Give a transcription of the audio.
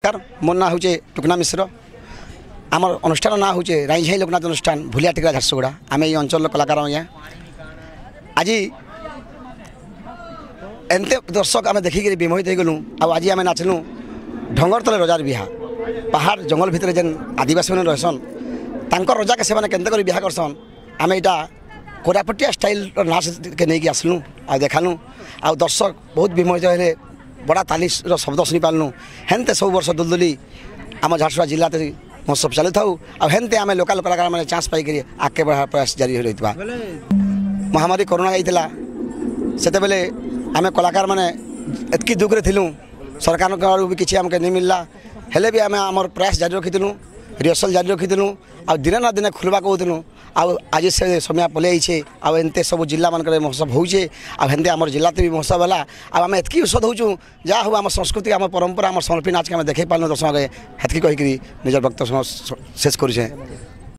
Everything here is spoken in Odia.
ନମସ୍କାର। ମୋର ନାଁ ହେଉଛି ଟୁକନା ମିଶ୍ର। ଆମର ଅନୁଷ୍ଠାନ ନାଁ ହେଉଛି ରାଇଝାଇ ଲୋକନାଥ ଅନୁଷ୍ଠାନ, ଭୁଲିଆ ଟିକରା, ଝାରସୁଗୁଡ଼ା। ଆମେ ଏଇ ଅଞ୍ଚଳର କଳାକାର ଆଜ୍ଞା। ଆଜି ଏନ୍ତେ ଦର୍ଶକ ଆମେ ଦେଖିକିରି ବିମୋହିତ ହେଇଗଲୁ। ଆଉ ଆଜି ଆମେ ନାଚିଲୁ ଢଙ୍ଗର ତଲେ ରଜାର ବିହା। ପାହାଡ଼ ଜଙ୍ଗଲ ଭିତରେ ଯେନ୍ ଆଦିବାସୀମାନେ ରହେସନ୍, ତାଙ୍କର ରଜାକେ ସେମାନେ କେନ୍ତା କରି ବିହା କରସନ୍, ଆମେ ଏଇଟା କୋରାପୁଟିଆ ଷ୍ଟାଇଲ୍ର ନାଚକେ ନେଇକି ଆସିଲୁ ଆଉ ଦେଖାଲୁ। ଆଉ ଦର୍ଶକ ବହୁତ ବିମୋହିତ ହେଲେ, ବଡ଼ା ତାଲିର ଶବ୍ଦ ଶୁଣିପାରିଲୁ। ହେନ୍ତେ ସବୁ ବର୍ଷ ଦୁଲଦୁଲି ଆମ ଝାରସୁଗୁଡ଼ା ଜିଲ୍ଲାରେ ମହୋତ୍ସବ ଚାଲୁଥାଉ, ଆଉ ହେନ୍ତେ ଆମେ ଲୋକାଲ କଳାକାରମାନେ ଚାନ୍ସ ପାଇକରି ଆଗକେ ବଢ଼ାର ପ୍ରୟାସ ଜାରି ରହିଥିବା। ମହାମାରୀ କରୋନା ଯାଇଥିଲା, ସେତେବେଳେ ଆମେ କଳାକାରମାନେ ଏତ୍କି ଦୁଃଖରେ ଥିଲୁ। ସରକାରଙ୍କ ଆଡ଼ୁ ବି କିଛି ଆମକେ ନେଇ ମିଳିଲା। ହେଲେ ବି ଆମେ ଆମର ପ୍ରୟାସ ଜାରି ରଖିଥିଲୁ, ରିହର୍ସାଲ୍ ଜାରି ରଖିଥିଲୁ, ଆଉ ଦିନେ ନା ଦିନେ ଖୋଲବା କହୁଥିଲୁ। ଆଉ ଆଜି ସେ ସମୟ ପଲେଇ ଆଇଛେ, ଆଉ ଏନ୍ତେ ସବୁ ଜିଲ୍ଲାମାନଙ୍କରେ ମହୋତ୍ସବ ହଉଛେ, ଆଉ ହେନ୍ତେ ଆମର ଜିଲ୍ଲାতে ବି ମହୋତ୍ସବ ହେଲା। ଆଉ ଆମେ ଏତ୍କି ଉତ୍ସବ ହଉଛୁ, ଯାହା ହଉ ଆମ ସଂସ୍କୃତି, ଆମ ପରମ୍ପରା, ଆମ ସମ୍ବଲପୁରୀ ନାଚକେ ଆମେ ଦେଖେଇ ପାରିଲୁ ଦର୍ଶକ। ହେତ୍କି କହିକିରି ନିଜର ବକ୍ତବ୍ୟ ଶେଷ କରୁଛେ।